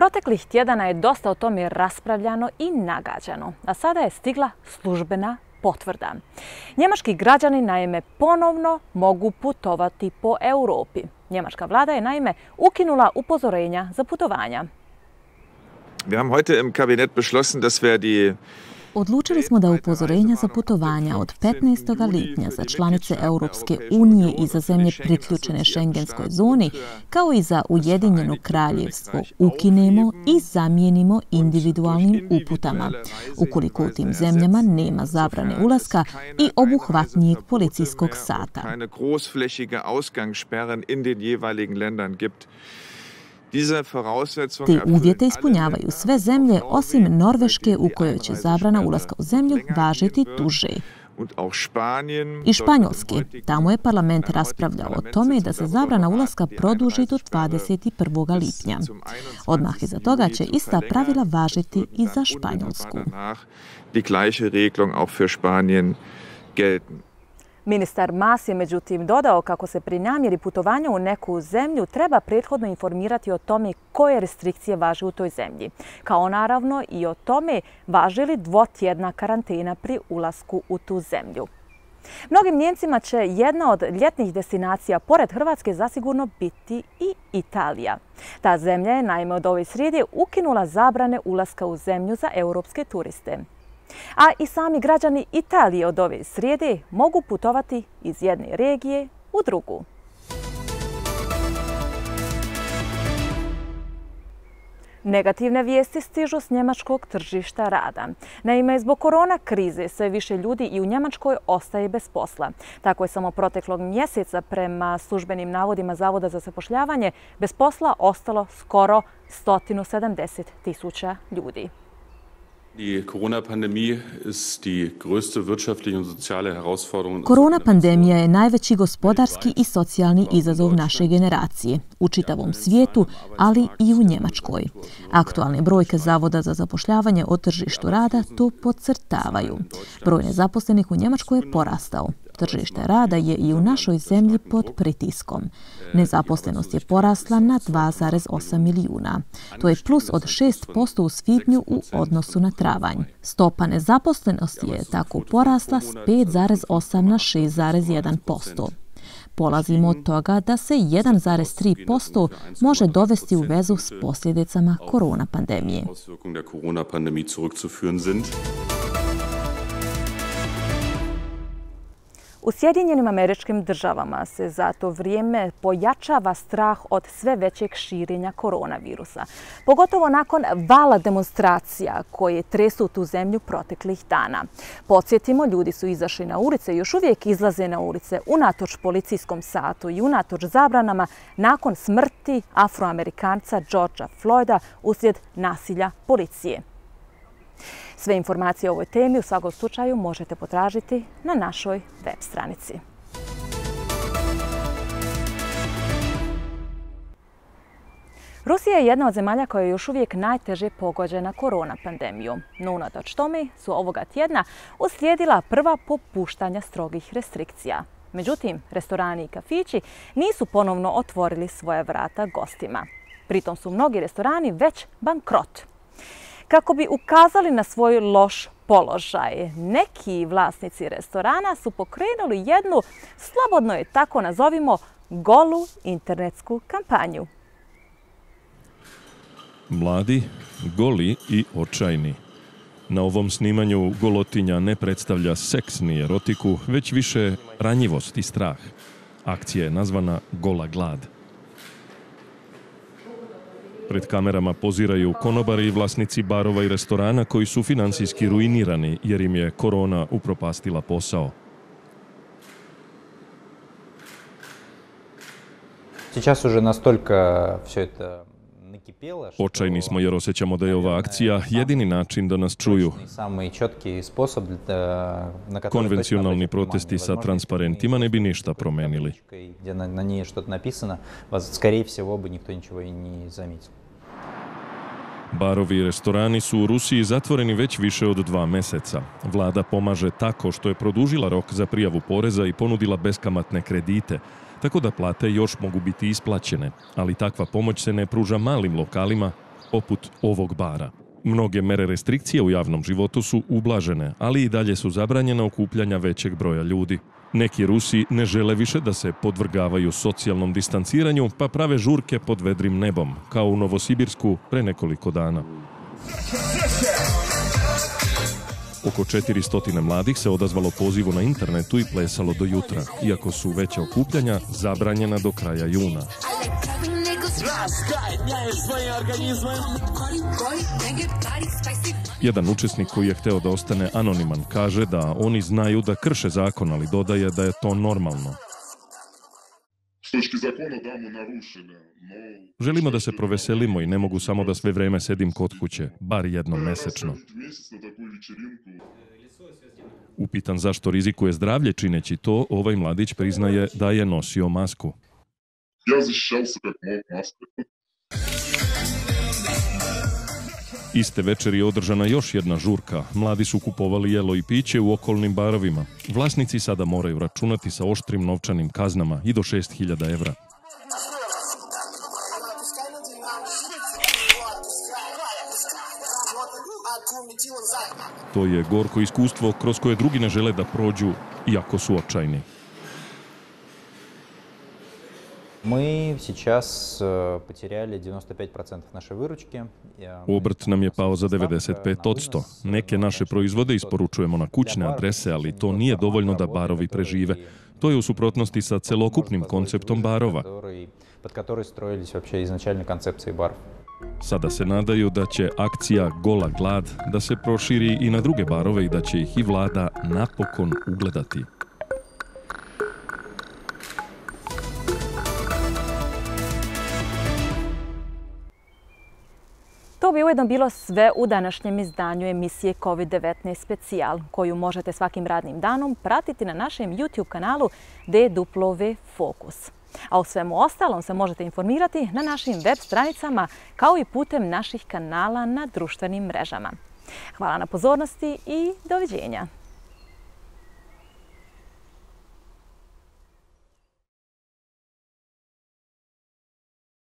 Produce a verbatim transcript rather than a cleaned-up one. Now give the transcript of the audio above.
Proteklih tjedana je dosta o tome raspravljano i nagađano, a sada je stigla službena potvrda. Njemački građani naime ponovno mogu putovati po Europi. Njemačka vlada je naime ukinula upozorenja za putovanja. Wir haben heute im Kabinett beschlossen, dass wir die Odlučili smo da upozorenja za putovanja od petnaestog lipnja za članice Europske unije i za zemlje priključene šengenskoj zoni, kao i za Ujedinjeno kraljevstvo, ukinemo i zamijenimo individualnim uputama, ukoliko u tim zemljama nema zabrane ulaska i obuhvatnijeg policijskog sata. Te uvjete ispunjavaju sve zemlje osim Norveške u kojoj će zabrana ulaska u zemlju važiti duže. I Španjolske. Tamo je parlament raspravljao o tome da se zabrana ulaska produži do dvadeset prvog lipnja. Odmah iza toga će ista pravila važiti i za Španjolsku. Ministar Mas je međutim dodao kako se pri namjeri putovanja u neku zemlju treba prethodno informirati o tome koje restrikcije važe u toj zemlji, kao naravno i o tome važi li dvotjedna karantena pri ulasku u tu zemlju. Mnogim Njemcima će jedna od ljetnih destinacija pored Hrvatske zasigurno biti i Italija. Ta zemlja je naime od ove srijede ukinula zabrane ulaska u zemlju za europske turiste. A i sami građani Italije od ove srijede mogu putovati iz jedne regije u drugu. Negativne vijesti stižu s njemačkog tržišta rada. Naime, zbog korona krize sve više ljudi i u Njemačkoj ostaje bez posla. Tako je samo proteklog mjeseca prema službenim navodima Zavoda za zapošljavanje bez posla ostalo skoro sto sedamdeset tisuća ljudi. Korona pandemija je najveći gospodarski i socijalni izazov naše generacije u čitavom svijetu, ali i u Njemačkoj. Aktualne brojke Zavoda za zapošljavanje o tržištu rada to podcrtavaju. Broj nezaposlenih u Njemačkoj je porastao. Tržište rada je i u našoj zemlji pod pritiskom. Nezaposlenost je porasla na dva zarez osam milijuna. To je plus od šest posto u svibnju u odnosu na travanj. Stopa nezaposlenosti je tako porasla s pet zarez osam na šest zarez jedan posto. Polazimo od toga da se jedan zarez tri posto može dovesti u vezu s posljedicama korona pandemije. U Sjedinjenim Američkim Državama se za to vrijeme pojačava strah od sve većeg širenja koronavirusa. Pogotovo nakon vala demonstracija koje tresu tu zemlju proteklih dana. Podsjetimo, ljudi su izašli na ulice i još uvijek izlaze na ulice unatoč policijskom satu i unatoč zabranama nakon smrti Afroamerikanca Georgea Floyda uslijed nasilja policije. Sve informacije o ovoj temi u svakom slučaju možete potražiti na našoj web stranici. Rusija je jedna od zemalja koja je još uvijek najteže pogođena korona pandemijom. No unatoč tome su ovoga tjedna uslijedila prva popuštanja strogih restrikcija. Međutim, restorani i kafići nisu ponovno otvorili svoja vrata gostima. Pritom su mnogi restorani već bankrot. Kako bi ukazali na svoj loš položaj, neki vlasnici restorana su pokrenuli jednu, slobodno je tako nazovimo, golu internetsku kampanju. Mladi, goli i očajni. Na ovom snimanju golotinja ne predstavlja seks ni erotiku, već više ranjivost i strah. Akcija je nazvana Gola glad. Pred kamerama poziraju konobari i vlasnici barova i restorana koji su financijski ruinirani jer im je korona upropastila posao. Сейчас уже настолько все это накипело. Očajni smo jer osjećamo da je ova akcija jedini način da nas čuju. Konvencionalni protesti sa transparentima ne bi ništa promenili. Na njej što napisano, skорее всего бы никто ничего и не заметил. Barovi i restorani su u Rusiji zatvoreni već više od dva meseca. Vlada pomaže tako što je produžila rok za prijavu poreza i ponudila beskamatne kredite, tako da plate još mogu biti isplaćene, ali takva pomoć se ne pruža malim lokalima poput ovog bara. Mnoge mere restrikcije u javnom životu su ublažene, ali i dalje su zabranjena okupljanja većeg broja ljudi. Neki Rusi ne žele više da se podvrgavaju socijalnom distanciranju, pa prave žurke pod vedrim nebom, kao u Novosibirsku pre nekoliko dana. Oko četiristo mladih se odazvalo pozivu na internetu i plesalo do jutra, iako su veća okupljanja zabranjena do kraja juna. Jedan učesnik koji je hteo da ostane anoniman kaže da oni znaju da krše zakon, ali dodaje da je to normalno. Želimo da se proveselimo i ne mogu samo da sve vreme sedim kod kuće, bar jednom mesečno. Upitan zašto rizikuje zdravlje čineći to, ovaj mladić priznaje da je nosio masku. Iste večeri je održana još jedna žurka. Mladi su kupovali jelo i piće u okolnim barovima. Vlasnici sada moraju računati sa oštrim novčanim kaznama i do šest hiljada evra. To je gorko iskustvo kroz koje drugi ne žele da prođu, iako su očajni. Мы сейчас потеряли девяносто пять процентов нашей выручки. Obrt nam je pao za devedeset pet posto. Neke naše proizvode isporučujemo na kućne adrese, ali to nije dovoljno da barovi prežive. To je u suprotnosti sa celokupnim konceptom barova. Sada se nadaju da će akcija Gola glad da se proširi i na druge barove i da će ih i vlada napokon ugledati. To bi ujedno bilo sve u današnjem izdanju emisije kovid devetnaest specijal, koju možete svakim radnim danom pratiti na našem YouTube kanalu D W Focus. A o svemu ostalom se možete informirati na našim web stranicama kao i putem naših kanala na društvenim mrežama. Hvala na pozornosti i doviđenja.